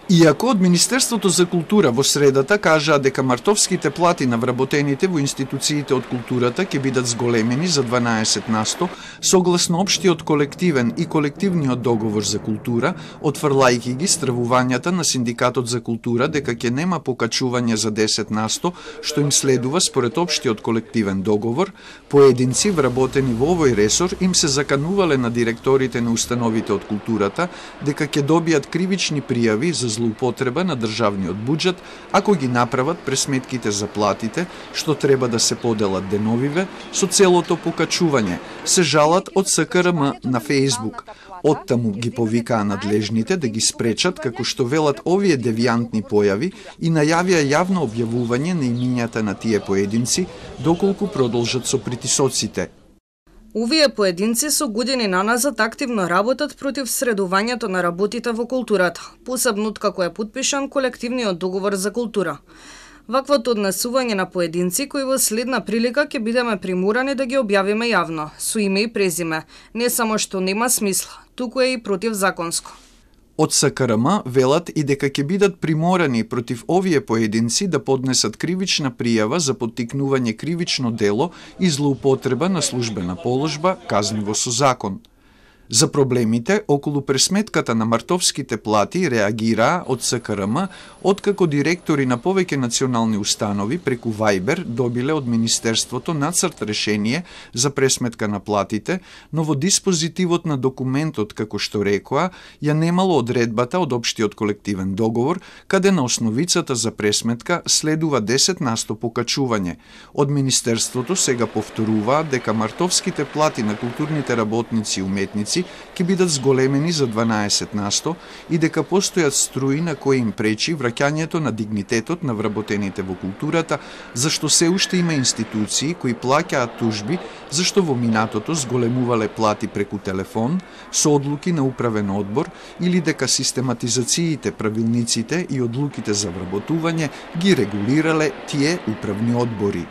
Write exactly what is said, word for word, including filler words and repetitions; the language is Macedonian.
Иако од Министерството за култура во средата кажаа дека мартовските плати на вработените во институциите од културата ќе бидат зголемени за дванаесет на сто, согласно општиот колективен и колективниот договор за култура, отфрлајќи ги стравувањата на Синдикатот за култура дека ќе нема покачување за десет на сто, што им следува според општиот колективен договор, поединци вработени во овој ресор им се заканувале на директорите на установите од културата дека ќе добијат кривични пријави за злоупотреба на државниот буџет ако ги направат пресметките за платите, што треба да се поделат деновиве, со целото покачување, се жалат од С К Р М на Фејсбук. Оттаму ги повикаа надлежните да ги спречат како што велат овие девијантни појави и најавија јавно објавување на имињата на тие поединци, доколку продолжат со притисоците. Овие поединци со години наназад активно работат против средувањето на работите во културата, посебно откако е потпишан колективниот договор за култура. Ваквото однесување на поединци кои во следна прилика ќе бидеме приморани да ги објавиме јавно, со име и презиме, не само што нема смисла, туку е и противзаконско. Од С К Р М велат и дека ќе бидат приморани против овие поединци да поднесат кривична пријава за поттикнување кривично дело и злоупотреба на службена положба, казниво со закон. За проблемите околу пресметката на мартовските плати реагираа од С К Р М, откако директори на повеќе национални установи преку Вајбер добиле од Министерството нацрт решение за пресметка на платите, но во диспозитивот на документот, како што рекоа, ја немало одредбата од општиот колективен договор, каде на основицата за пресметка следува десет на сто покачување. Од Министерството сега повторуваат дека мартовските плати на културните работници и уметници ќе бидат зголемени за дванаесет на сто и дека постојат струи на кои им пречи враќањето на дигнитетот на вработените во културата, зашто се уште има институции кои плаќаат тужби зашто во минатото зголемувале плати преку телефон, со одлуки на управен одбор или дека систематизациите, правилниците и одлуките за вработување ги регулирале тие управни одбори.